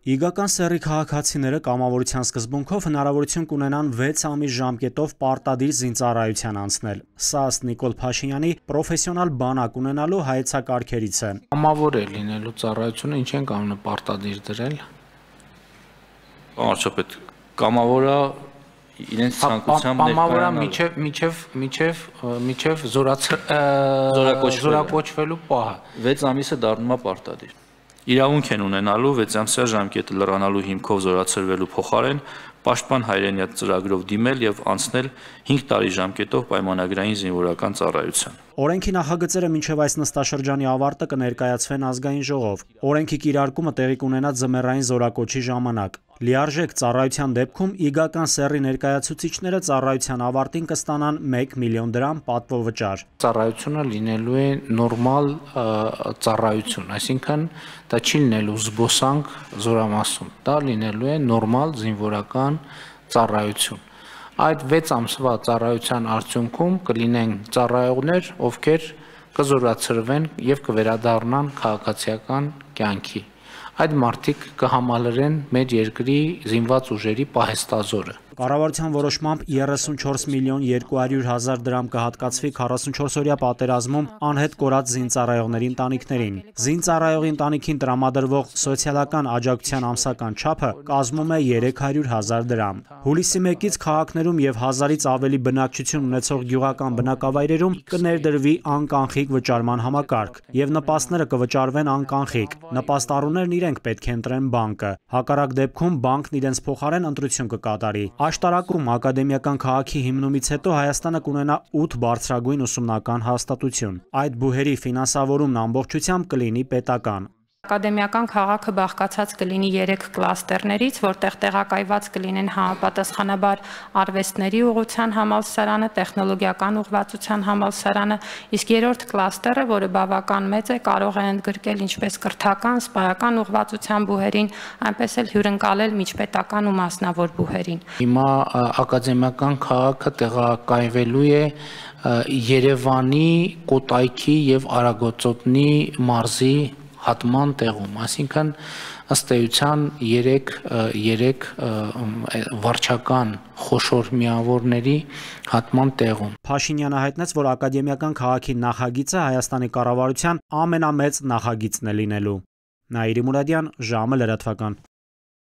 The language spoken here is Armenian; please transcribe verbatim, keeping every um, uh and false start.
Իգական սեռի քաղաքացիները կամավորության սկզբունքով հնարավորություն կունենան վեց ամիս ժամկետով պարտադիր զինծառայության անցնել։ Սա ըստ Նիկոլ Փաշինյանի պրոֆեսիոնալ բանակ ունենալու հայեցակարգերից է։ Կամավոր է լինելու ծառայությունը ինչ են կամնը պարտադիր դրել։ Պարոն կամավորը իրենց ցանկությամբ կամավորը միջև միջև միջև միջև զորակոչվելու պահը վեց ամիսը դառնում է պարտադիր։ Իրավունք են ունենալու վեց ամսյա ժամկետը լրանալու հիմքով զորացրվելու փոխարեն պաշտպան հայրենիաթ ծրագրով դիմել եւ անցնել հինգ տարի ժամկետով պայմանագրային զինվորական ծառայության։ Օրենքի նախագծերը մինչև այս նստաշրջանի ավարտը կներկայացվեն ազգային ժողով։ Օրենքի կիրարկումը տեղի կունենա ձմեռային զորակոչի ժամանակ։ Լիարժեք ծառայության դեպքում իգական սեռի ներկայացուցիչները ծառայության ավարտին կստանան մեկ միլիոն դրամ պատվովճար։ Ծառայությունը լինելու է նորմալ ծառայություն, այսինքն դա չի լինելու զբոսանք զորամասում, դա լինելու է նորմալ զինվորական ծառայություն։ Այդ վեց ամսվա ծառայության արդյունքում կլինեն ծառայողներ, ովքեր կզորացրվեն եւ կվերադառնան քաղաքացիական կյանքի։ Այդ մարդիկ կհամալրեն մեր երկրի զինված ուժերի պահեստազորը։ Կառավարության որոշմամբ երեսունչորս միլիոն երկու հարյուր հազար դրամ կհատկացվի քառասունչորսօրյա պատերազմում անհետ կորած զինծառայողների ընտանիքներին։ Զինծառայողի ընտանիքին տրամադրվող սոցիալական աջակցության ամսական չափը կազմում է երեք հարյուր հազար դրամ։ Հուլիսի մեկից քաղաքներում եւ հազարից ավելի բնակչություն ունեցող գյուղական բնակավայրերում կներդրվի անկանխիկ վճարման համակարգ եւ նպաստները կվճարվեն անկանխիկ։ Նպաստառուներն իրենք պետք է ընտրեն բանկը։ Հակառակ դեպքում բանկն իրենց փոխարեն ընտրություն կկատարի։ Աշտարակում ակադեմիական քաղաքի հիմնումից հետո Հայաստանը կունենա ութ բարձրագույն ուսումնական հաստատություն։ Այդ բուհերի ֆինանսավորումն ամբողջությամբ կլինի պետական։ Ակադեմիական քաղաքը բաղկացած կլինի երեք կլաստերներից, որտեղ տեղակայված կլինեն համապատասխանաբար արվեստների ուղղության համալսարանը, տեխնոլոգիական ուղղվածության համալսարանը, իսկ երրորդ կլաստերը, որը բավական մեծ է, կարող է ընդգրկել ինչպես կրթական, սպայական ուղղվածության բուհերին, այնպես էլ հյուրընկալել միջպետական ու մասնավոր բուհերին։ Հիմա ակադեմիական քաղաքը տեղակայվելու է Երևանի, Կոտայքի եւ Արագածոտնի մարզի հատման տեղում, այսինքն ըստ էության երեք վարչական խոշոր միավորների հատման տեղում։ Փաշինյանը հայտնեց, որ ակադեմիական քաղաքի նախագիծը Հայաստանի կառավարության ամենամեծ նախագիծն է լինելու։ Նաիրի Մուրադյան, ժամը լրատվական։